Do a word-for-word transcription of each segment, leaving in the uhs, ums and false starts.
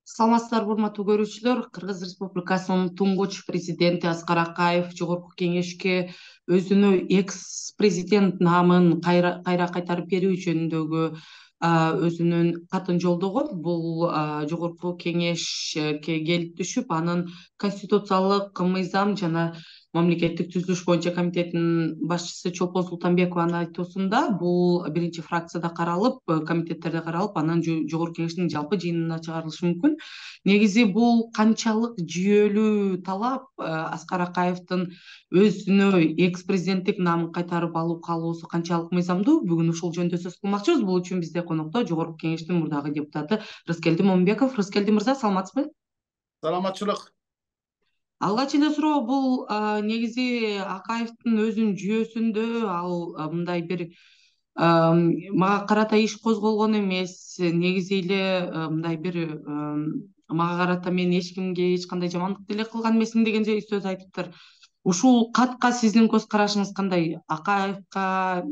Саламатсыздарбы, урматтуу көрүүчүлөр. Кыргыз Республикасынын туңгуч президенти Аскар Акаев Жогорку Кеңешке өзүнө экс-президент наамын кайра кайра кайтарып берүү жөнүндөгү өзүнүн катын жолдогон. Бул Жогорку Кеңешке келип түшүп, анын конституциялык мыйзам жана мамлекеттик түзүлүш боюнча комитетинин башчысы Чолпон Султанбекованын айтуусунда бул биринчи фракцияда каралып, комитеттерде каралып, анан Жогорку Кеңештин жалпы жыйынына чыгарылышы мүмкүн. Негизи бул канчалык жүйөлүү талап, Аскар Акаевдин өзүнө экс-президенттик наамын кайтарып алуу каалоосу канчалык мыйзамдуу? Бүгүн ушул жөнүндө сөз кылмакчыбыз. Бул үчүн бизде конокто Жогорку Кеңештин мурдагы депутаты Рыскелди Момунбеков. Рыскелди мырза, саламатсызбы? Саламатчылык. Алгач эле суроо, бул негизи Акаевдин өзүнүн жүйөсүндө ал мындай бир мага карата иш козголгон эмес. Негизи эле мындай бир мага карата мен эч кимге эч кандай жамандык деле кылган эмесмин деген сөз айтыптыр. Ушул катка сиздин көз карашыңыз кандай? Акаевка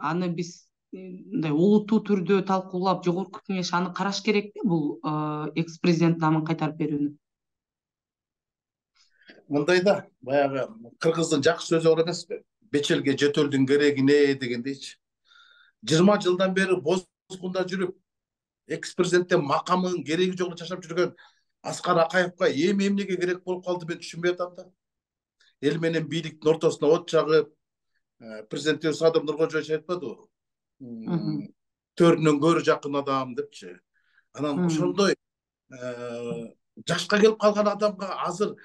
аны биз мындай олуттуу түрдө талкуулап, Жогорку Кеңеш аны караш керекпи, бул экс-президент наамын кайтарып берүүнү? Мындай да, баягы кыргыздын жакшы сөзү бар эмеспи? Бечелге жөтөлдүн керегине дегендейчи. жыйырма жылдан бери бозгунда жүрүп, экс-президенттин макамынын кереги жок жашап жүргөн Аскар Акаевка эми эмнеге керек болуп калды, мен түшүнбөй атам да. Эл менен бийликтин ортосуна от чагып, президентибиз Садыр Нуркожоевич айтпадыбы? Төрүнөн көрү жакын адам депчи. Анан ошондой жашка келип калган адамга азыр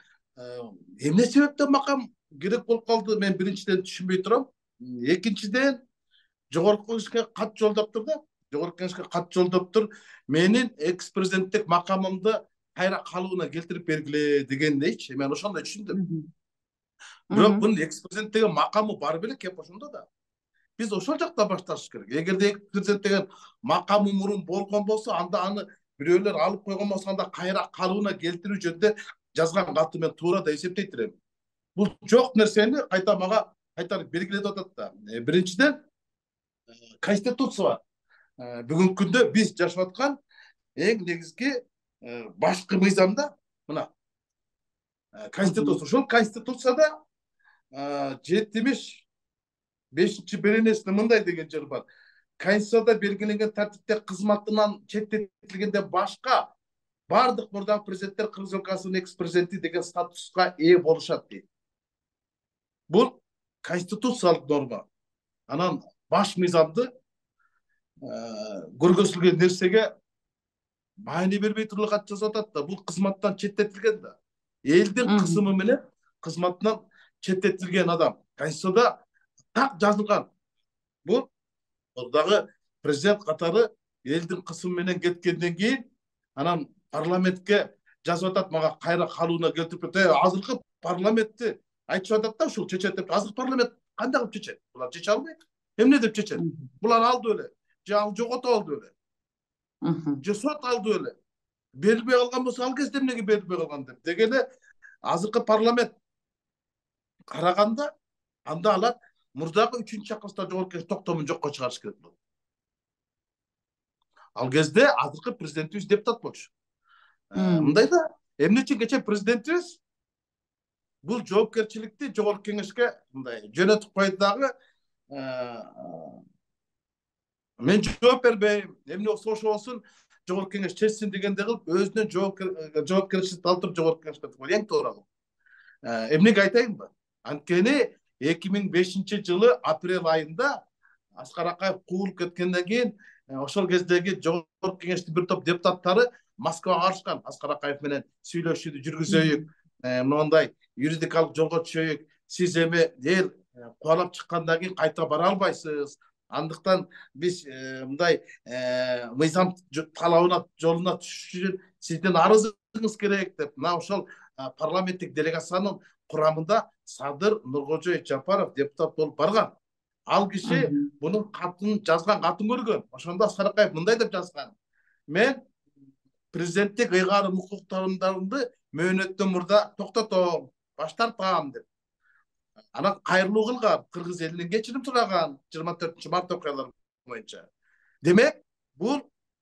эмне себептен макам керек болуп калды, мен биринчиден түшүнбөй турам. Экинчиден, Жогорку Кеңешке кат жолдоптур да. Жогорку Кеңешке кат жолдоптур. Менин экс-президенттик макамымды кайра калыбына келтирип бергиле дегендейчи. Мен ошондой түшүндүм. Бирок бунун экс-президент деген макамы бар беле, кеп ошондо да. Биз ошол жакта башташыбыз керек. Эгерде экс-президент деген макамы мурун болгон болсо, анда аны бирөөлөр алып койгон болсо, анда кайра калыбына келтирүү жөнүндө жазган каты мен туура да эсептей турам. Бул жок нерсени кайта мага кайтарып бергиле деп атат да. Биринчиден, конституция бар. Бүгүнкү күндө биз жашап аткан эң негизги башкы мыйзамда мына конституция. Ошол конституцияда жетимиш бешинчи беренесинде мындай деген жер бар. Конституцияда белгиленген тартипте кызматынан четтетилгенде башка бардык мурдагы президенттер Кыргыз Республикасынын экс-президенти деген статуска ээ болушат дейт. Бул конституциялык норма. Анан баш мыйзамды көргөзүлгөн нерсеге маани бербей туруп кат жазып атат да. Бул кызматтан четтетилген да. Элдин кысымы менен кызматынан четтетилген адам. Конституцияда так жазылган. Бул дагы президент катары элдин кысымы менен кеткенден кийин анан парламентке жазып атат, мага кайра калыбына келтирип берет. Азыркы парламентти айтып атат да, ушул чечет деп. Азыр парламент кандай кылып чечет? Булар чече албайт. Эмне деп чечет? Булар алды эле. Же ал жоготуп алды эле. Же сот алды эле. Берилбей калган болсо, ал кезде эмнеге берилбей калган деп. Дегеле азыркы парламент караганда анда алар мурдагы үчүнчү чакырылышта Жогорку Кеңеш токтомун жокко чыгарыш керек болду. Ал кезде азыркы президентибиз депутат болчу. Мындай да, эмне үчүн кече президентибиз бул жоопкерчиликти Жогорку Кеңешке мындай жөнөтүп койду дагы, мен жооп бербейм, эмне болсо ошо болсун, Жогорку Кеңеш чечсин дегенде кылып, өзүнүн жоопкерчиликти алып туруп Жогорку Кеңешке койду. Эң туура бул. Эмнеге айтайынбы? Анткени эки миң бешинчи жылы апрель айында Аскар Акаев куулуп кеткенден кийин ошол кездеги Жогорку Кеңештин бир топ депутаттары Москвага барышкан. Аскар Акаев менен сүйлөшүүдү жүргүзөйүк, моундай юридикалык жолго түшөйүк. Сиз эми эл кубалап чыккандан кийин кайта бара албайсыз. Андыктан биз мындай мыйзам талабына жолуна түшүш үчүн сиздин арызыңыз керек деп, мына ошол парламенттик делегациянын курамында Садыр Нуркожоевич Жапаров депутат болуп барган. Ал киши бунун катын жазган катын көргөн. Ошондо Аскар Акаев мындай деп жазган: мен президенттик ыйгарым укуктарымды мөөнөттөн мурда токтотом, баш тартам деп. Анан кайрылуу кылган, кыргыз элинен кечирим сураган жыйырма төртүнчү март окуялары боюнча. Демек, бул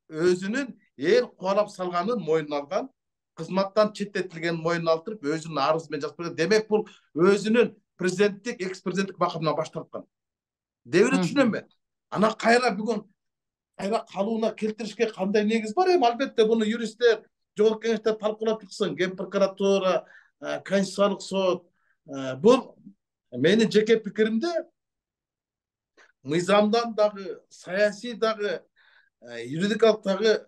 өзүнүн эл кубалап салганын мойнуна алган, кызматтан четтетилгенин мойнуна алып өзүнүн арызы менен жазып берген. Демек бул өзүнүн президенттик, экс президенттик макамынан баш тарткан. Дебири түшүнөм мен. Ана кайра бүгүн кайра калууна келтиришке кандай негиз бар? Эми албетте буну юристтер, жогорку кеңештер талкуулап чыксын. Ген прокуратура, Конституциялык сот. Бул менин жеке пикиримде мыйзамдан дагы, саясий дагы, юридикалык дагы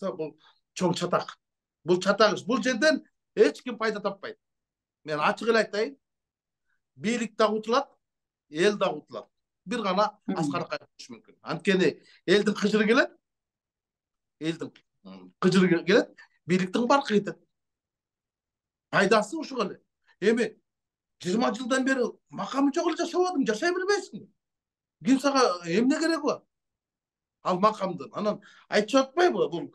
бул чоң чатак. Бул чатак иш. Бул жерден эч ким пайда таппайт. Мен ачык эле айтайын. Бийлик да утулат, эл да утулат. Бир гана Аскар Акаев болушу мүмкүн. Анткени элдин кыжыры келет, элдин кыжыры келет, бийликтин баркы кетет. Пайдасы ушул эле. Эми жыйырма жылдан бери макамы жок эле жашап атам, жашай билбейсиңби? Ким сага эмне кереги бар? Ал макамдын. Анан айтып атпайбы, бул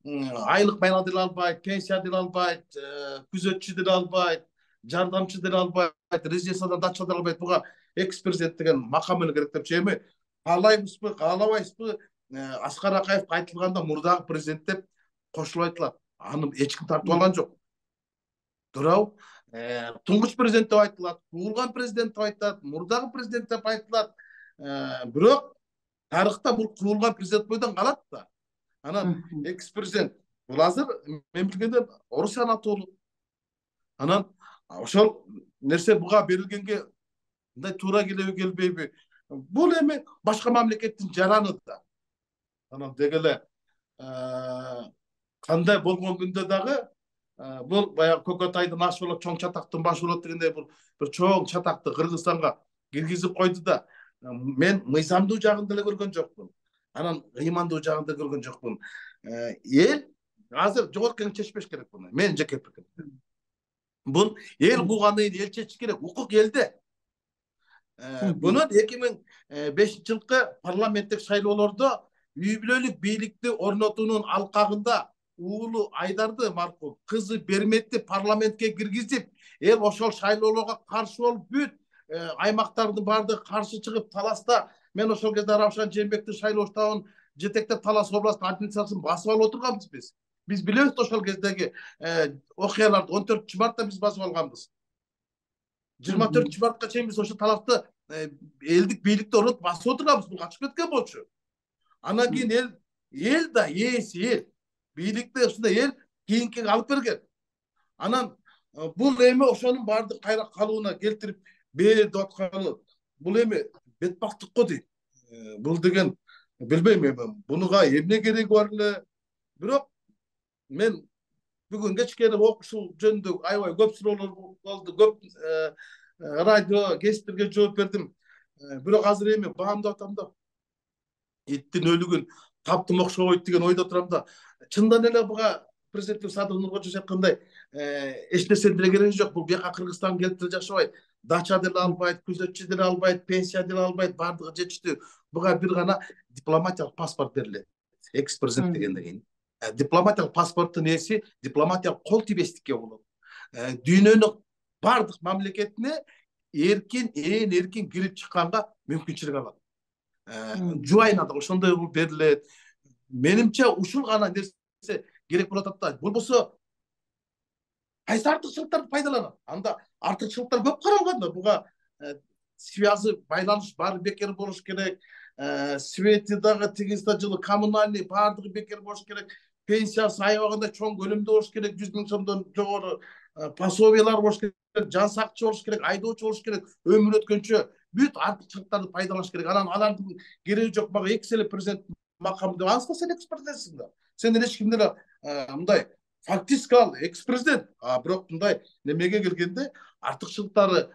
айлык майна деле албайт, пенсия деле албайт, күзөтчү деле албайт, жардамчы деле албайт, резиденциядан дача деле албайт. Буга экс президент деген макам эле керек деп эми каалайбызбы, каалабайсызбы? Аскар Акаевге айтылганда мурдагы президент деп кошулуп айтылат. Аны эч ким тартып алган жок. Туурабы? Туңгуч президент деп айтылат, куулган президент деп айтылат, мурдагы президент деп айтылат. Бирок тарыхта бул куулган президент бойдон калат да. Анан экс президент бул азыр мен билгенден орус анатолу. Анан ошол нерсе буга берилгенге мындай туура келеби келбейби? Бул эми башка мамлекеттин жараны да. Анан деги эле кандай болгон күндө дагы бул баягы Көкөтайдын ашы болот, чоң чатактын башы болот дегендей бул бир чоң чатакты Кыргызстанга киргизип койду да. Мен мыйзамдуу жагын деле көргөн жокмун. Анан ыймандуу жагын да көргөн жокмун. Эл азыр жогорку кеңеш чечпеш керек буну. Мен жеке пикирим. Бул эл куугандан кийин эл чечиш керек. Укук элде. Бунун эки миң бешинчи жылкы парламенттик шайлоолордо үй бүлөлүк бийликти орнотуунун алкагында уулу Айдарды маркум, кызы Берметти парламентке киргизип, эл ошол шайлоолорго каршы болуп бүт аймактардын баардыгы каршы чыгып таласта мен ошол кезде Равшан Жээнбектин шайлоо штабын жетектеп Талас областын администрациясын басып алып отурганбыз биз. Биз билебиз ошол кездеги окуяларды он төртүнчү мартта биз басып алганбыз. жыйырма төртүнчү мартка чейин биз ошо талапты элдик бийликти орнотуп басып отурганбыз. Бул качып кеткен болчу. Анан кийин эл эл да ээси эл бийликти ушундай эл кийинки алып берген. Анан бул эми ошонун баардык кайра калууна келтирип бер деп атканы бул эми бетбактык го дейм. Бул деген билбейм эми бунуга эмне кереги бар эле. Бирок мен бүгүн кечкени ушул жөнүндө аябай көп суроолор болду, көп радио кесиптерге жооп бердим. Бирок азыр эми баамдап атам да. Иттин өлүгүн таптым окшобойт деген ойдо турам да. Чындан эле буга президент Садыр Нуркожоевич айткандай эч нерсенин деле кереги жок. Бул бияка Кыргызстан келип деле жашабайт. Дача деле албайт, күзөтчү деле албайт, пенсия деле албайт, баардыгы жетиштүү. Буга бир гана дипломатиялык паспорт берилет. Экс президент дегенден кийин. Дипломатиялык паспорттун ээси дипломатиялык кол тийбестикке болот. Дүйнөнүн баардык мамлекетине эркин, ээн эркин кирип чыкканга мүмкүнчүлүк алат. Жубайына да ошондой болуп берилет. Менимче ушул гана нерсе керек болуп атат да. Болбосо кайсы артыкчылыктарды пайдаланат? Анда артыкчылыктар көп каралган да. Буга связы, байланыш баары бекер болуш керек. Свети дагы тигизде жылы коммунальный баардыгы бекер болуш керек. Пенсиясы аябагында чоң көлөмдө болуш керек. жүз миң сомдон жогору пособиялар болуш керек. Жан сакчы болуш керек, айдоочу болуш керек. Өмүр өткөнчө бүт артыкчылыктарды пайдаланыш керек. Анан алардын кереги жок. Мага экс эле президент макамы деп анса сен экс президентсиң да. Сенден эч ким деле мындай фактически ал экс президент. А бирок мындай немеге келгенде артыкчылыктары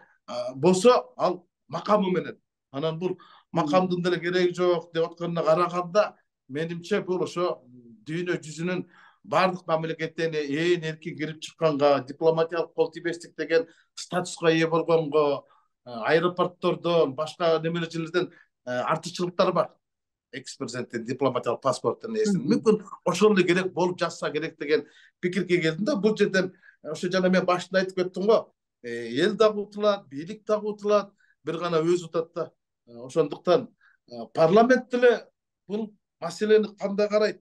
болсо ал макамы менен. Анан бул макамдын деле кереги жок деп атканына караганда менимче бул ошо дүйнө жүзүнүн баардык мамлекеттерине ээн эркин кирип чыкканга, дипломатиялык кол тийбестик деген статуска ээ болгонго, аэропорттордон, башка немелер жерлерден артыкчылыктар бар. Экс президенттин дипломатиялык паспорттун ээсинин. Мүмкүн ошол эле керек болуп жатса керек деген пикирге келдим да. Бул жерден ошо жана мен башында айтып кеттим го. Эл дагы утулат, бийлик дагы утулат, бир гана өзү утат да. Ошондуктан парламент деле бул маселени кандай карайт?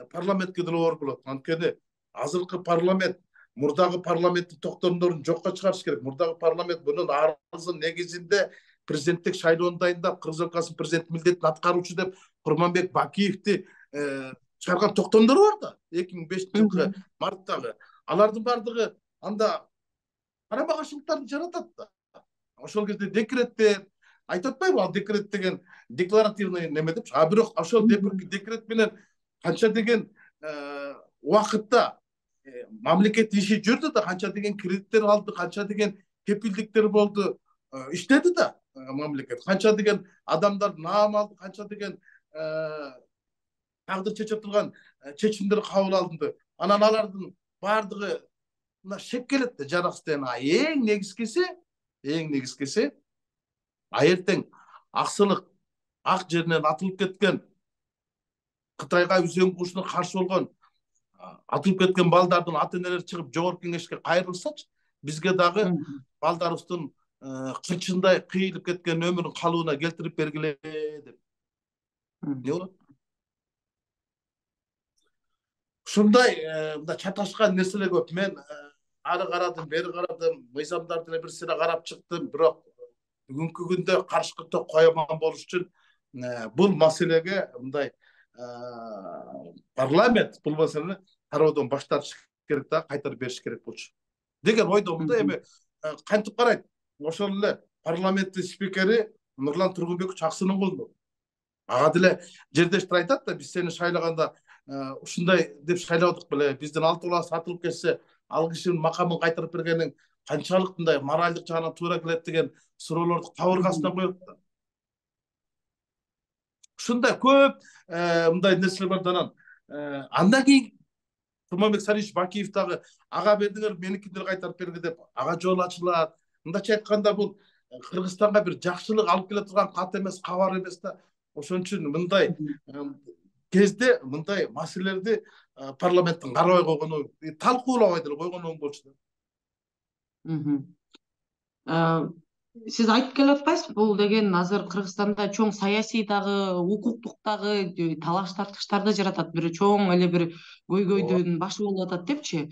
парламентке деле оор болот. Анткени азыркы парламент мурдагы парламенттин токтомдорун жокко чыгарыш керек. Мурдагы парламент мунун арызын негизинде президенттик шайлоону дайындап, Кыргыз Республикасынын президенти милдетин аткаруучу деп Курманбек Бакиевди чыгарган токтомдору бар да, эки миң бешинчи жылкы марттагы. Алардын бардыгы анда карама каршылыктарды жаратат да. Ошол кезде декреттер айтып атпайбы, ал декрет деген декларативный неме депчи. А бирок ошол декрет менен канча деген убакытта мамлекет иши жүрдү да, канча деген кредиттер алды, канча деген кепилдиктер болду, иштеди да мамлекет. Канча деген адамдар наам алды, канча деген тагдыр чече турган чечимдер кабыл алынды. Анан алардын бардыгы мына шек келет да, жараксыз деген. Эң негизгиси, эң негизгиси аертең аксылык ак жеринен атылып кеткен, Кытайга үзөң кушуна каршы болгон атылып кеткен балдардын ата энелери чыгып жогорку кеңешке кайрылсачы, бизге дагы балдарыбыздын кырчындай кыйылып кеткен өмүрүн калыбына келтирип бергиле деп. Не болот? Ушундай мында чаташкан нерселер көп. Мен ары карадым, бери карадым, мыйзамдарды эле бир сыйра карап чыктым, бирок бүгүнкү күндө каршыкы ток кояман болуш үчүн бул маселеге мындай парламент бул маселени кароодон баш тартыш керек да, кайтарып бериш керек болчу деген ойдомун да. Эми кантип карайт? Ошол эле парламенттин спикери Нурлан Тургунбекович Аксынын колунда. Ага деле жердештер айтат да, биз сени шайлаганда ушундай деп шайлабадык беле, биздин алты баласы атылып кетсе, ал кишинин макамын кайтарып бергениң канчалык мындай моралдык жагынан туура келет деген суроолорду кабыргасына коет да. Ушундай көп мындай нерселер бар да. Анан андан кийин Курманбек Сарыевич Бакиев дагы ага бердиңер, меникиндер кайтарып берди деп ага жол ачылат. Мындайча айтканда бул Кыргызстанга бир жакшылык алып келе турган кат эмес, кабар эмес да. Ошон үчүн мындай кезде мындай маселелерди парламенттин карабай койгону, талкуулабай деле койгону оң болчу да. Сиз айтып келе атпайсызбы, бул деген азыр Кыргызстанда чоң саясий дагы, укуктук дагы талаш тартыштарды жаратат, бир чоң эле бир көйгөйдүн башы болуп атат депчи.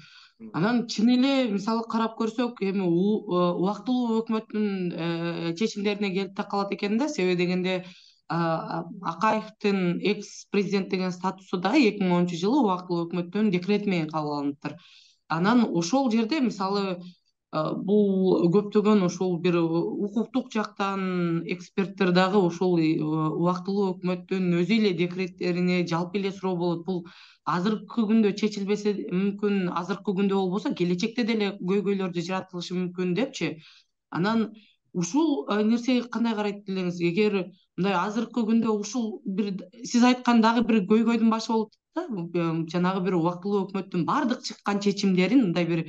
Анан чын эле мисалы карап көрсөк, эми убактылуу өкмөттүн чечимдерине келип такалат экен да. Себеби дегенде Акаевдин экс президент деген статусу да эки миң онунчу жылы убактылуу өкмөттүн декрети менен кабыл алыныптыр. Анан ошол жерде мисалы бул көптөгөн ошол бир укуктук жактан эксперттер дагы ошол убактылуу өкмөттүн өзү эле декреттерине жалпы эле суроо болот. Бул азыркы күндө чечилбесе мүмкүн, азыркы күндө болбосо келечекте деле көйгөйлөрдү жаратылышы мүмкүн депчи. Анан ушул нерсеге кандай карайт элеңиз? Эгер мындай азыркы күндө ушул бир сиз айткан дагы бир көйгөйдүн башы болуп да, жанагы бир убактылуу өкмөттүн бардык чыккан чечимдерин мындай бир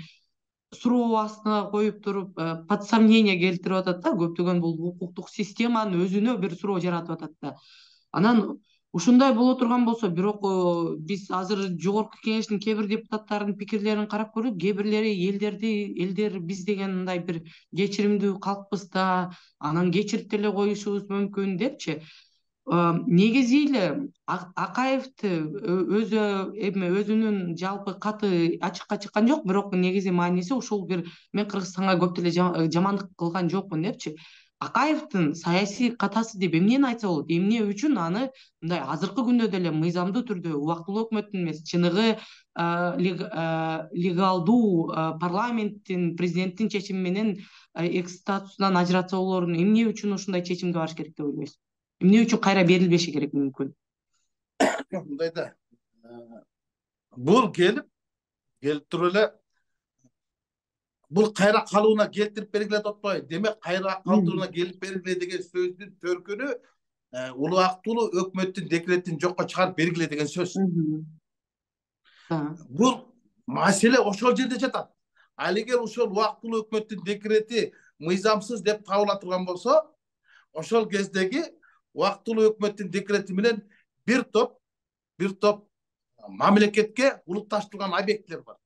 суроо астына коюп туруп, под сомнение келтирип атат да, көптөгөн бул укуктук системанын өзүнө бир суроо жаратып атат да. Анан ушундай боло турган болсо, бирок биз азыр жогорку кеңештин кээ бир депутаттарынын пикирлерин карап көрдүк, кээ бирлери элдерди, элдер биз деген мындай бир кечиримдүү калкпыз да, анан кечирип деле коюшубуз мүмкүн депчи. Негизи эле Акаевди өзү эми өзүнүн жалпы каты ачыкка чыккан жок, бирок негизи мааниси ушул бир мен Кыргызстанга көп деле жамандык кылган жокмун депчи. Акаевдин саясий катасы деп эмнени айтса болот? Эмне үчүн аны мындай азыркы күндө деле мыйзамдуу түрдө убактылуу өкмөттүн эмес, чыныгы легалдуу парламенттин, президенттин чечими менен экс статусунан ажыратса болорун эмне үчүн ушундай чечимге барыш керек деп ойлойсуз? Эмне үчүн кайра берилбеши керек мүмкүн? Мындай да. Бул келип, келип туруп эле бул кайра калыбына келтирип бергиле деп атпайбы? Демек кайра калтырууна келип бергиле деген сөздүн төркүнү убактылуу өкмөттүн декретин жокко чыгарып бергиле деген сөз. Бул маселе ошол жерде жатат. Ал эгер ошол убактылуу өкмөттүн декрети мыйзамсыз деп табыла турган болсо, ошол кездеги убактылуу өкмөттүн декрети менен бир топ бир топ мамлекетке улукташтырылган объектилер бар.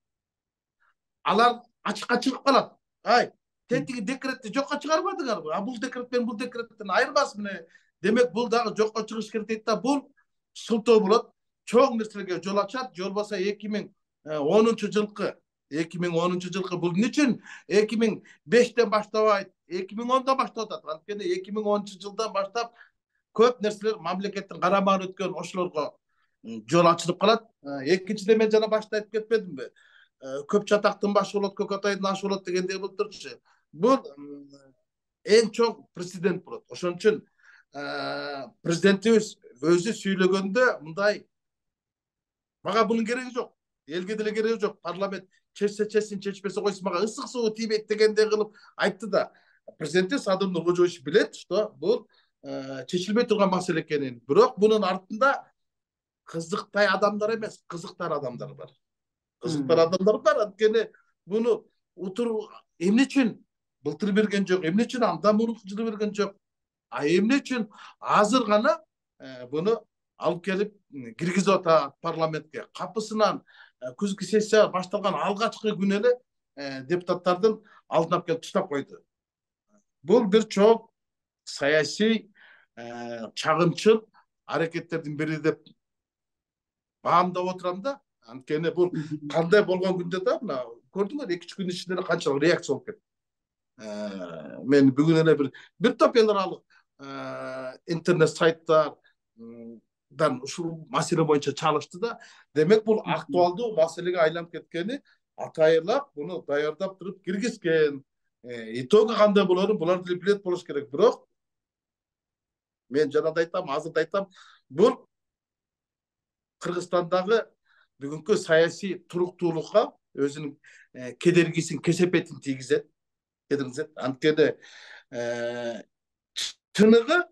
Алар ачыкка чыгып калат. Ай, тетиги декретти жокко чыгарбадыңарбы? А бул декрет менен бул декреттен айырмасызбы? Демек бул дагы жокко чыгыш керек дейт да, бул шылтоо болот. чоң нерселерге жол ачат. Же болбосо эки миң онунчу жылкы эки миң онунчу жылкы бул эмне үчүн эки миң бештен баштабайт, эки миң ондон баштап атат. Анткени эки миң онунчу жылдан баштап көп нерселер мамлекеттин карамагына өткөн ошолорго жол ачылып калат. Экинчиден мен жана башта айтып кетпедимби? Көп чатактын башы болот, көк атайдын ашы болот дегендей былтырчы. Бул эң чоң президент болот. Ошон үчүн президентибиз өзү сүйлөгөндө мындай мага бунун кереги жок. Элге деле кереги жок. Парламент чечсе чечсин, чечпесе койсун, мага ысык суу тийбейт дегендей кылып айтты да. Президентибиз Садыр Нуркожоевич билет, что бул чечилбей турган маселе экенин. Бирок мунун артында кызыктай адамдар эмес, кызыктар адамдар бар. Кызыктар адамдар бар. Анткени буну утур эмне үчүн былтыр берген жок, эмне үчүн андан мурунку жылы берген жок, а эмне үчүн азыр гана буну алып келип киргизип атат парламентке. Капысынан күзгү сессия башталган алгачкы күнү эле депутаттардын алдына алып келип таштап койду. Бул бир чоң саясий чагымчыл аракеттердин бири деп баамдап отурам да. Анткени бул кандай болгон күндө да мына көрдүңөр эки үч күн ичинде эле канчалык реакция болуп кетти. Мен бүгүн эле бир бир топ эл аралык интернет сайттардан ушул маселе боюнча чалышты да. Демек бул актуалдуу маселеге айланып кеткени атайылап буну даярдап туруп киргизген. Итогу кандай болорун булар деле билет болуш керек. Бирок мен жана да айтам, азыр да айтам, бул Кыргызстандагы бүгүнкү саясий туруктуулукка өзүнүн кедергисин, кесепетин тийгизет. Анткени чыныгы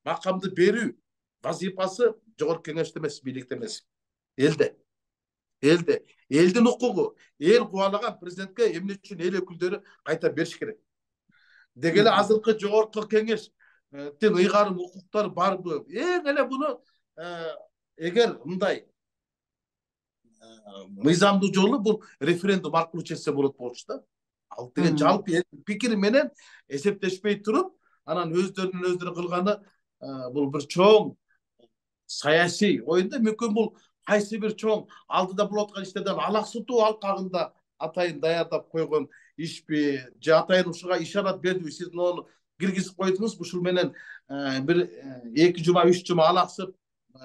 макамды берүү вазифасы жогорку кеңеште эмес, бийликте эмес, элде. Элде. Элдин укугу, эл кубалаган президентке эмне үчүн эл өкүлдөрү кайта бериш керек. Деги эле азыркы жогорку кеңештин ыйгарым укуктары барбы? Эң эле буну эгер мындай мыйзамдуу жолу бул референдум аркылуу чечсе болот болчу да. Ал деген жалпы пикир менен эсептешпей туруп, анан өздөрүнүн өздөрү кылганы бул бир чоң саясий оюнда. Мүмкүн бул кайсы бир чоң алдыда болуп аткан иштерден алаксытуу алкагында атайын даярдап койгон ишпи, же атайын ушуга ишарат бердиби, сиз мону киргизип койдуңуз, ушул менен бир эки жума, үч жума алаксып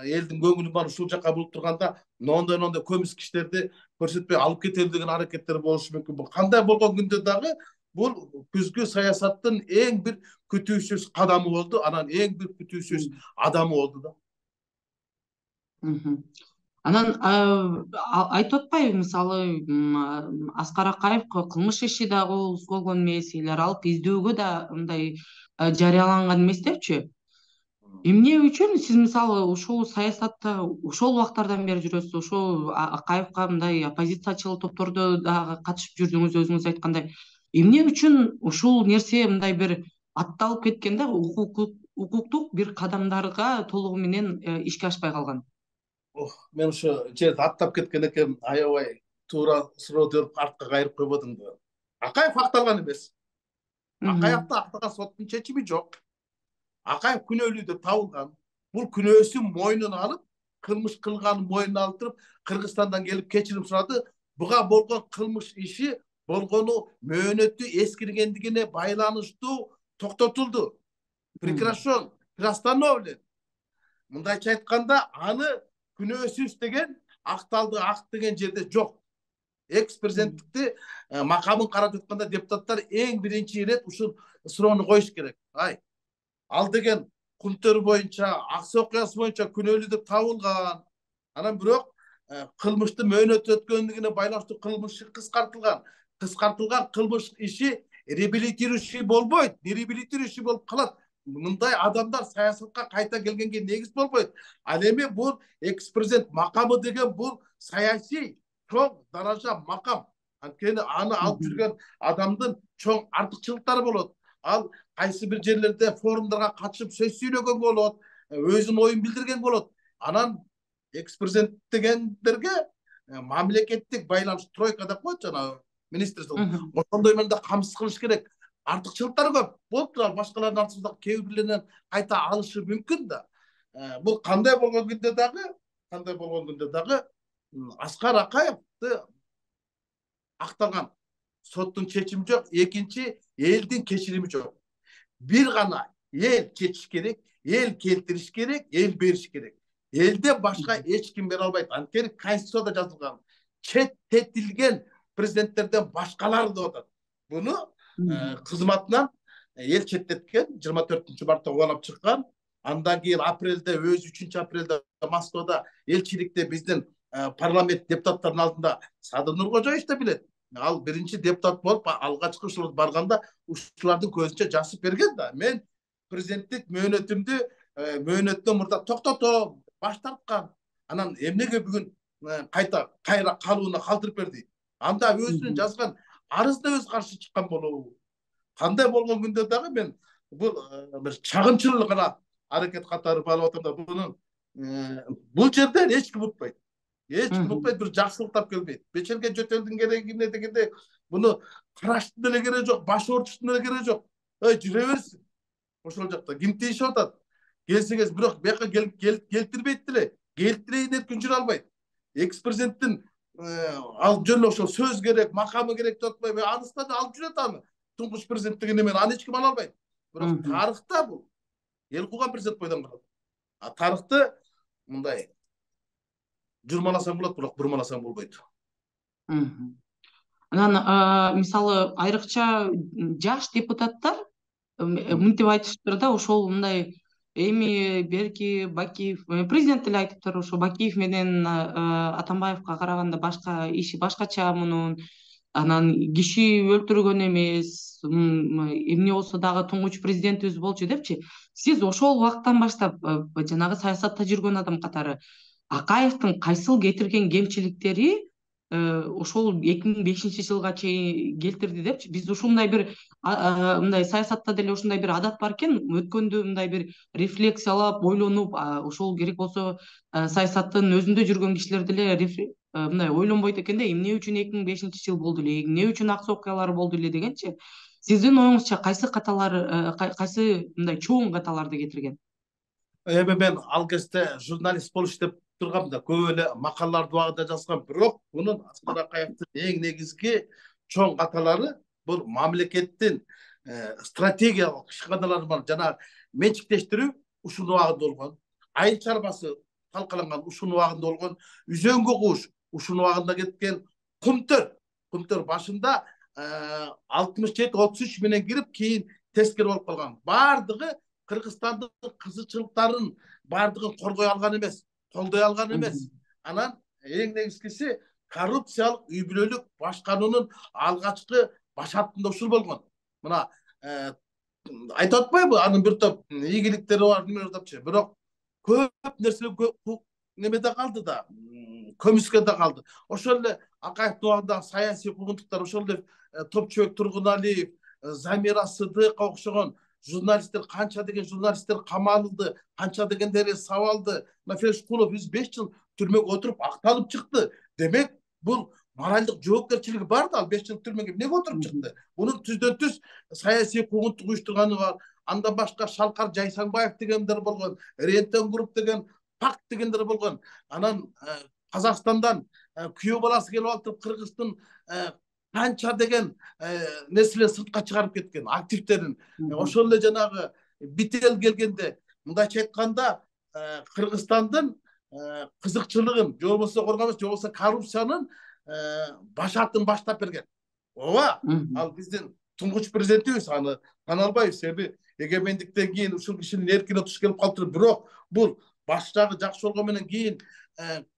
элдин көңүлүн баары ушул жака буруп турганда мондой мондой көмүс киштерди көрсөтпөй алып кетели деген аракеттер болушу мүмкүн. Бул кандай болгон күндө дагы бул күзгү саясаттын эң бир күтүүсүз кадамы болду, анан эң бир күтүүсүз адамы болду да. Анан айтып атпайбы, мисалы Аскар Акаев кылмыш иши да козголгон эмес, эл аралык издөөгө да мындай жарыяланган эмес депчи. Эмне үчүн сиз мисалы ушул саясатта ошол убактардан бери жүрөсүз, ошол Акаевка мындай оппозициячыл топтордо дагы катышып жүрдүңүз, өзүңүз айткандай. Эмне үчүн ушул нерсе мындай бир атталып кеткен да, укуктук бир кадамдарга толугу менен ишке ашпай калган? Мен ошо жерде аттап кеткен экен, аябай туура суроо берип артка кайрып койбодумбу? Акаев акталган эмес. Акаевди актаган соттун чечими жок. Акаев күнөөлүү деп табылган. Бул күнөөсүн мойнуна алып, кылмыш кылганын мойнуна алып туруп, Кыргызстандан келип кечирим сурады. Буга болгон кылмыш иши болгону мөөнөтү эскиргендигине байланыштуу токтотулду. Прекращен, приостановлен. Мындайча айтканда, аны күнөөсүз деген, акталды, акт деген жерде жок. Экс-президенттикти макамын карап жатканда депутаттар эң биринчи ирет ушул суроону коюш керек. Ай, ал деген Кунтөр боюнча, Аксы окуясы боюнча күнөөлүү деп табылган. Анан бирок кылмыштын мөөнөтү өткөндүгүнө байланыштуу кылмыш кыскартылган. Кыскартылган кылмыш иши реабилитирующий болбойт, реабилитирующий болуп калат. Мындай адамдар саясатка кайта келгенге негиз болбойт. Ал эми бул экс-президент макамы деген бул саясий чоң даража макам. Анткени аны алып жүргөн адамдын чоң артыкчылыктары болот. Ал кайсы бир жерлерде форумдарга катышып сөз сүйлөгөн болот, өзүнүн оюн билдирген болот. Анан экс-президент дегендерге мамлекеттик байланыш тройка деп коет жана министрство. Ошондой менде камсыз кылыш керек. Артыкчылыктары көп. Болуп турат, башкалардын артында кээ бирлеринен кайта алышы мүмкүн да. Бул кандай болгон күндө дагы кандай болгон күндө дагы Аскар Акаевди акталган соттун чечими жок. Экинчи, элдин кечирими жок. Бир гана эл чечиш керек, эл келтириш керек, эл бериш керек. Элден башка эч ким бере албайт. Анткени Конституцияда жазылган четтетилген президенттерден башкалар деп атат. Буну кызматынан эл четтеткен, жыйырма төртүнчү мартта кубалап чыккан. Андан кийин апрелде, өзү үчүнчү апрелде Москвада элчиликте биздин парламент депутаттарынын алдында Садыр Нуркожоевич да билет. Ал биринчи депутат болуп алгачкы ушул барганда ушулардын көзүнчө жазып берген да. Мен президенттик мөөнөтүмдү мөөнөттөн мурда токтотом, баш тарткан. Анан эмнеге бүгүн кайта кайра калууна калтырып берди? Анда өзүнүн жазган арызына өзү каршы чыккан болобу? Кандай болгон күндө дагы мен бул бир чагымчыл гана аракет катары барып атам да, бунун бул жерден эч ким утпайт. Эч ким утпайт, бир жакшылык тап келбейт. Бечерге жөтөлдүн кереги эмне дегенде буну караштын деле кереги жок, баш оорутуштун деле кереги жок. Ой, жүрө берсин. Ошол жакта ким тийишип атат? Келсеңиз, бирок бияка келтирбейт деле. Келтирейин эркин жүрө албайт. Экс-президенттин ал жөн ошол сөз керек, макамы керек деп атпайбы? Анысынан алып жүрөт аны. Туңгуч президент деген эмен аны эч ким ала албайт. Бирок тарыхта бул эл кууган президент бойдон калат. А тарыхты мындай журмаласаң болот, бирок бурмаласаң болбойт. Анан мисалы айрыкча жаш депутаттар мынтип айтышыптыр да, ошол мындай эми берки Бакиев президент деле айтыптыр, ошо Бакиев менен Атамбаевка караганда башка иши башкача мунун. Анан киши өлтүргөн эмес, эмне болсо дагы туңгуч президентибиз болчу депчи. Сиз ошол убакыттан баштап жанагы саясатта жүргөн адам катары Акаевдин кайсыл кетирген кемчиликтери ошол эки миң бешинчи жылга чейин келтирди депчи. Биз ушундай бир мындай саясатта деле ушундай бир адат бар экен, өткөндү мындай бир рефлексиялап, ойлонуп, ошол керек болсо саясаттын өзүндө жүргөн кишилер деле мындай ойлонбойт экен да, эмне үчүн эки миң бешинчи жыл болду эле, эмне үчүн аксы окуялар болду эле дегенчи. Сиздин оюңузча кайсы каталар, кайсы мындай чоң каталарды кетирген? Эми мен ал кезде журналист болуп иштеп тургам да, көп эле макалаларды убагында жазгам. Бирок мунун Аскар Акаевдин эң негизги чоң каталары бул мамлекеттин стратегиялык ишканалары бар, жана менчиктештирүү ушул убагында болгон. Айыл чарбасы талкаланган ушул убагында болгон. Үзөңгү куш ушул убагында кеткен. Кумтөр, кумтөр башында алтымыш жети отуз үч менен кирип, кийин тескери болуп калган. Бардыгы Кыргызстандын кызычылыктарын бардыгын коргой алган эмес, колдой алган эмес. Анан эң негизгиси коррупциялык үй бүлөлүк башкаруунун алгачкы башатында ушул болгон. Мына айтып атпайбы, анын бир топ ийгиликтери бар депчи. Бирок көп нерселер немеде калды да, көмүскөдө калды. Ошол эле Акаевдин убагындагы саясий куугунтуктар, ошол эле Топчубек Тургуналиев, Замира Сыдыкова окшогон журналисттер, канча деген журналисттер камалды, канча дегендери сабалды. Нафер Шкулов жүз беш жыл түрмөгө отуруп акталып чыкты. Демек, бул моралдык жоопкерчилиги бар да, ал беш жыл түрмөгө эмнеге отуруп чыкты? Мунун түздөн түз саясий куугунтук уюштурганы бар. Андан башка Шалкар Жайсаңбаев дегендер болгон, Рентен групп деген, Пак дегендер болгон. Анан Казакстандан күйөө баласы келип алып, Кыргыздын канча деген нерселер сыртка чыгарып кеткен, активтерин. Ошол эле жанагы Бител келгенде, мындайча айтканда, Кыргызстандын кызыкчылыгын, же болбосо коргомос, же болбосо коррупциянын башатын баштап берген. Ооба, ал биздин туңгуч президентибиз, аны тана албайбыз. Себеби эгемендиктен кийин ушул кишинин эркине туш келип калыптыр. Бирок бул баштагы жакшы болгон менен кийин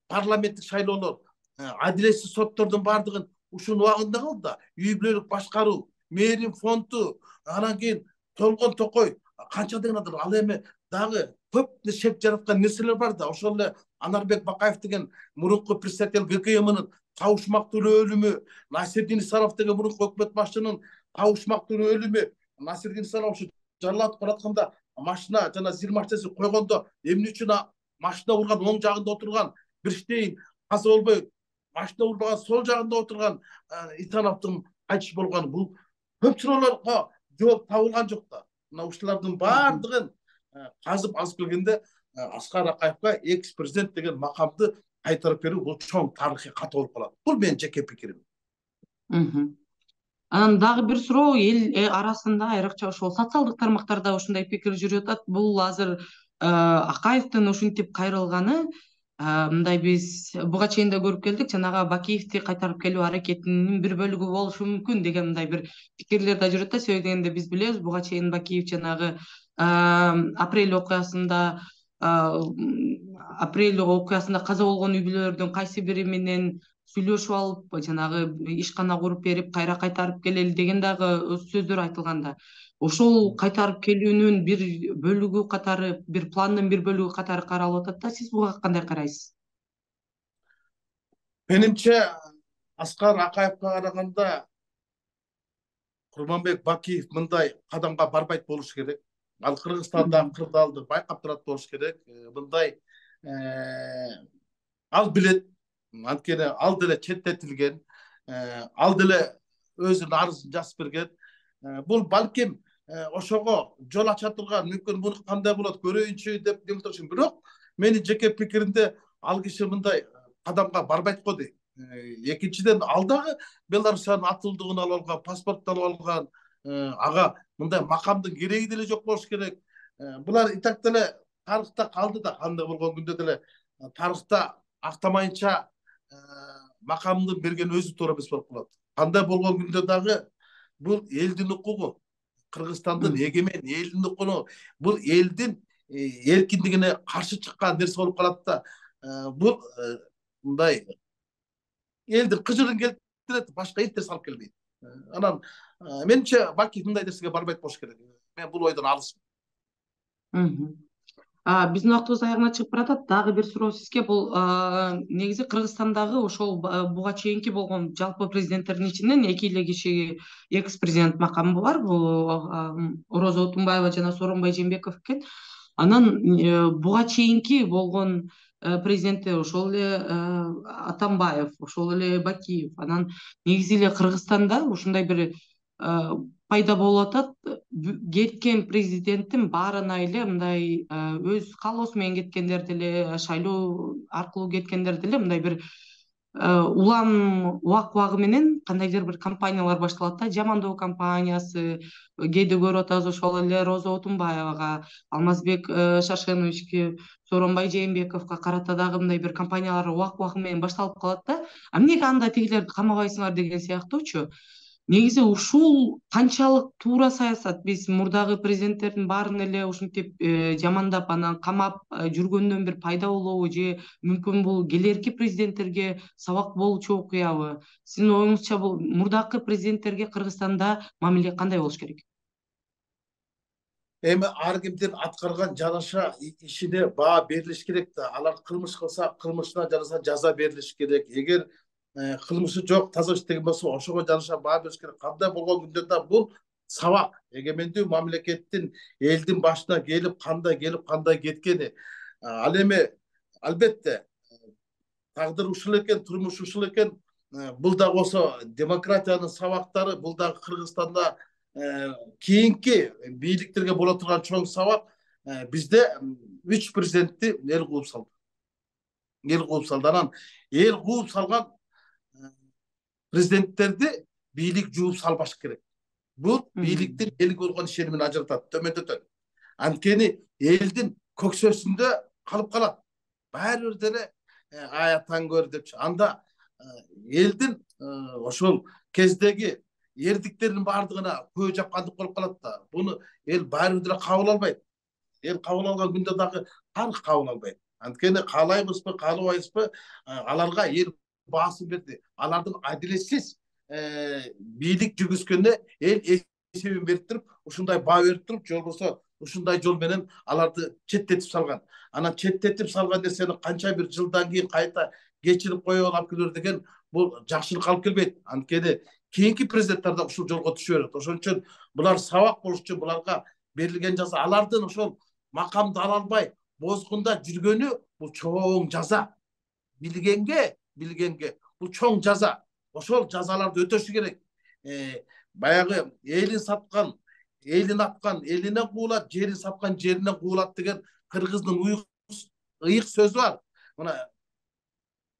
парламенттик шайлоолор, адилетсиз соттордун бардыгын ушул убагында калды да. Үй бүлөлүк башкаруу, мээрин фонду, анан кийин Толгон Токой, канча деген адам, ал эми дагы көп шек жараткан нерселер бар да. Ошол эле Анарбек Бакаев деген мурунку председатель ГКМнын кабышмактуу өлүмү, Насирдин Исанов деген мурунку өкмөт башчынын кабышмактуу өлүмү. Насирдин Исанов ушу жаралатып баратканда машина жана зил машинасы койгондо эмне үчүн машина урган оң жагында отурган Бирштейн каза болбой, машина урбаган сол жагында отурган Исановдун кайтыш болгону, бул көп суроолорго жооп табылган жок да. Мына ушулардын баардыгын казып алып келгенде Аскар Акаевга экс президент деген макамды кайтарып берүү бул чоң тарыхый кат болуп калат. Бул менин жеке пикирим. Анан дагы бир суроо, эл арасында айрыкча ошол социалдык тармактарда ушундай пикир жүрүп атат. Бул азыр Акаевдин ушинтип кайрылганы, мындай биз буга чейин да көрүп келдик, жанагы Бакиевди кайтарып келүү аракетинин бир бөлүгү болушу мүмкүн деген мындай бир пикирлер да жүрөт да. Себеби дегенде биз билебиз, буга чейин Бакиев жанагы апрель окуясында апрель окуясында каза болгон үй бүлөлөрдүн кайсы бири менен сүйлөшүп алып, жанагы ишкана куруп берип, кайра кайтарып келели деген дагы сөздөр айтылганда, ошол кайтарып келүүнүн бир бөлүгү катары, бир пландын бир бөлүгү катары каралып атат да. Сиз буга кандай карайсыз? Менимче, Аскар Акаевге караганда Курманбек Бакиев мындай кадамга барбайт болуш керек. Ал Кыргызстанда кырдаалды байкап турат болуш керек. Мындай ал билет, анткени ал деле четтетилген, ал деле өзүнүн арызын жазып берген. Бул балким ошого жол ача турган, мүмкүн буну кандай болот көрөйүнчү деп демекчи. Бирок менин жеке пикиримде ал киши мындай кадамга барбайт го дейм. Экинчиден, ал дагы Беларусиянын атылдыгын алып алган, паспортун алып алган, ага мындай макамдын кереги деле жок болуш керек. Булар и так деле тарыхта калды да, кандай болгон күндө деле тарыхта актамайынча макамды берген өзү туура эмес болуп калат. Кандай болгон күндө дагы бул элдин укугу, Кыргызстандын эгемен элдин укугу, бул элдин эркиндигине каршы чыккан нерсе болуп калат да. Бул мындай элдин кыжырын келтирет, башка эч нерсе алып келбейт. Анан менимче Бакиев мындай нерсеге барбайт болуш керек. Мен бул ойдон алысмын. Биздин убактыбыз аягына чыгып баратат. Дагы бир суроо сизге. Бул негизи Кыргызстандагы ошол буга чейинки болгон жалпы президенттердин ичинен эки эле киши экс президент макамы бар. Бул Роза Отунбаева жана Сооронбай Жээнбеков экен. Анан буга чейинки болгон президенттер ошол эле Атамбаев, ошол эле Бакиев. Анан негизи эле Кыргызстанда ушундай бир пайда болуп атат. Кеткен президенттин баарына эле мындай өз каалоосу менен кеткендер деле, шайлоо аркылуу кеткендер деле мындай бир улам убак-убагы менен кандайдыр бир компаниялар башталат да. Жамандоо компаниясы, кээде көрүп атабыз ошол эле Роза Отунбаевага, Алмазбек Шаршеновичке, Сооронбай Жээнбековго карата дагы мындай бир компаниялар убак-убагы менен башталып калат да. А эмнеге анда тигилерди камабайсыңар деген сыяктуучу. Негизи ушул канчалык туура саясат? Биз мурдагы президенттердин баарын эле ушинтип жамандап, анан камап жүргөндөн бир пайда болобу, же мүмкүн бул келерки президенттерге сабак болчу окуябы? Сиздин оюңузча бул мурдакы президенттерге Кыргызстанда мамиле кандай болуш керек? Эми ар кимдин аткарган жараша ишине баа берилиш керек да. Алар кылмыш кылса, кылмышына жараша жаза берилиш керек. Эгер кылмышы жок, таза иштеген болсо, ошого жараша баа бериш керек. Кандай болгон күндө да бул сабак. Эгемендүү мамлекеттин элдин башына келип, кандай келип, кандай кеткени. Ал эми албетте тагдыр ушул экен, турмуш ушул экен. Бул да болсо демократиянын сабактары, бул да Кыргызстанда кийинки бийликтерге боло турган чоң сабак. Бизде үч президентти эл кууп салды. Эл кууп салды. Анан эл кууп салган президенттерди бийлик жууп салбаш керек. Бул бийликтин элге болгон ишенимин ажыратат, төмөндөтөт. Анткени элдин көксөсүндө калып калат. Баары бир деле аятан көр депчи. Анда элдин ошол кездеги эрдиктердин баардыгына көө жапкандык болуп калат да. Буну эл баары бир деле кабыл албайт. Эл кабыл алган күндө дагы тарых кабыл албайт. Анткени каалайбызбы, каалабайбызбы, аларга эл баасын берди. Алардын адилетсиз бийлик жүргүзгөнүнө эл эсебин берип туруп, ушундай баа берип туруп, же болбосо ушундай жол менен аларды четтетип салган. Анан четтетип салган нерсени канча бир жылдан кийин кайта кечирип коюп алып келер деген бул жакшылык алып келбейт. Анткени кийинки президенттер да ушул жолго түшө берет. Ошон үчүн булар сабак болуш үчүн буларга берилген жаза, алардын ошол макамды ала албай бозгунда жүргөнү бул чоң жаза. Билгенге, билгенге бул чоң жаза. Ошол жазаларды өтөшү керек. Баягы элин саткан, элин аткан элине куулат, жерин саткан жерине куулат деген кыргыздын уюк ыйык сөз бар. Мына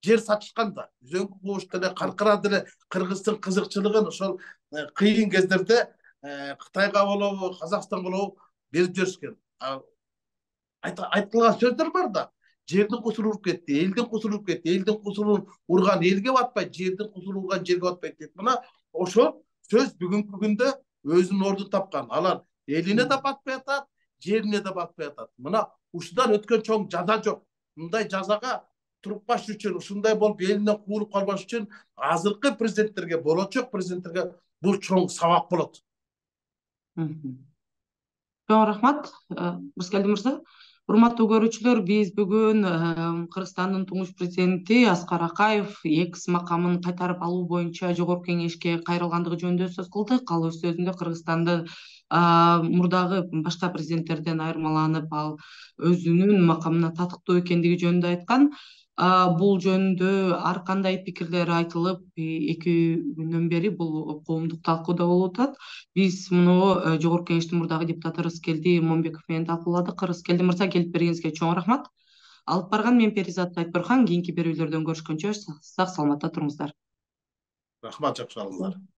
жер сатышканда, үзөңкү кубушту эле каркырат эле Кыргыздын кызыкчылыгын ошол кыйын кездерде Кытайга болобу, Казакстанга болобу берип жиберишкен. Айтылган сөздөр бар да. Жердин кусуру уруп кетти, элдин кусуру уруп кетти, элдин кусурун урган элге батпайт, жердин кусуру урган жерге батпайт дейт. Мына ошол сөз бүгүнкү күндө өзүнүн ордун тапкан. Алар элине да батпай атат, жерине да батпай атат. Мына ушудан өткөн чоң жаза жок. Мындай жазага туруппаш үчүн, ушундай болуп элинен куулуп калбаш үчүн азыркы президенттерге, болочок президенттерге бул чоң сабак болот. Чоң рахмат, Рыскелди мырза. Урматтуу көрүүчүлөр, биз бүгүн Кыргызстандын туңуш президенти Аскар Акаев экс макамын кайтарып алуу боюнча Жогорку Кеңешке кайрылгандыгы жөнүндө сөз кылдык. Ал өз сөзүндө Кыргызстанды мурдагы башка президенттерден айырмаланып, ал өзүнүн макамына татыктуу экендиги жөнүндө айткан. Бул жөнүндө ар кандай пикирлер айтылып, эки күндөн бери бул коомдук талкууда болуп атат. Биз муну Жогорку Кеңештин мурдагы депутаты Рыскелди Момбеков менен талкууладык. Рыскелди мырза, келип бергениңизге чоң рахмат. Алып барган мен Перизат Айтберхан. Кийинки берүүлөрдөн көрүшкөнчө сак саламатта туруңуздар. Рахмат, жакшы алыңыздар.